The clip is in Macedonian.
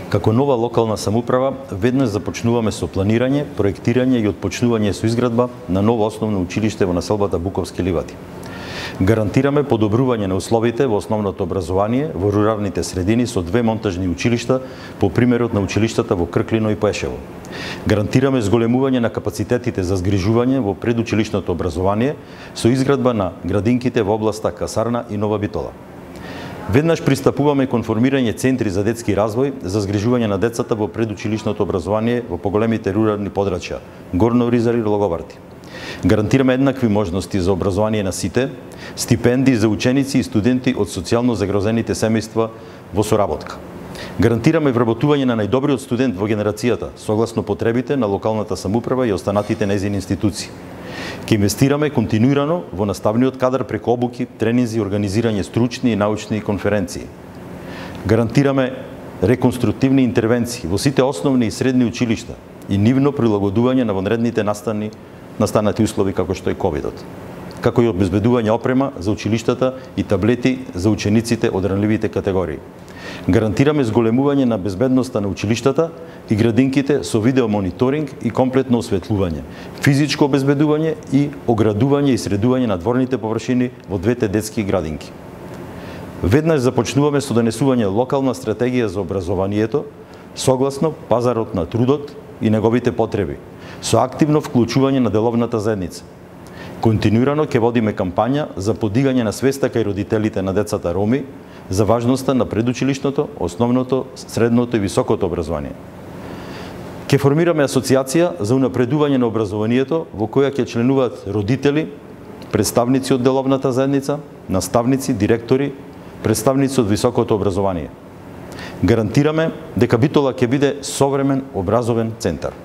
Како нова локална самоуправа, веднаш започнуваме со планирање, проектирање и отпочнување со изградба на ново основно училиште во населбата Буковски ливади. Гарантираме подобрување на условите во основното образование во руралните средини со 2 монтажни училишта по примерот на училиштата во Крклино и Пешево. Гарантираме зголемување на капацитетите за згрижување во предучилишното образование со изградба на градинките во областа Касарна и Нова Битола. Веднаш пристапуваме кон формирање центри за детски развој за згрижување на децата во предучилишното образование во поголемите рурални подрачја Горно Оризари и Логоварди. Гарантираме еднакви можности за образование на сите, стипендии за ученици и студенти од социјално загрозените семејства во соработка. Гарантираме вработување на најдобриот студент во генерацијата, согласно потребите на локалната самоуправа и останатите нејзини институции. Ке инвестираме континуирано во наставниот кадар преку обуки, тренинзи, организирање стручни и научни конференции. Гарантираме реконструктивни интервенции во сите основни и средни училишта и нивно прилагодување на вонредните настанати услови како што е ковидот, како и обезбедување опрема за училиштата и таблети за учениците од ранливите категории. Гарантираме зголемување на безбедноста на училиштата и градинките со видеомониторинг и комплетно осветлување, физичко обезбедување и оградување и средување на дворните површини во двете детски градинки. Веднаш започнуваме со донесување локална стратегија за образованието согласно пазарот на трудот и неговите потреби, со активно вклучување на деловната заедница. Континуирано ќе водиме кампања за подигање на свеста кај родителите на децата роми за важноста на предучилишното, основното, средното и високото образование. Ќе формираме асоциација за унапредување на образованието во која ќе членуваат родители, представници од деловната заедница, наставници, директори, представници од високото образование. Гарантираме дека Битола ќе биде современ образовен центар.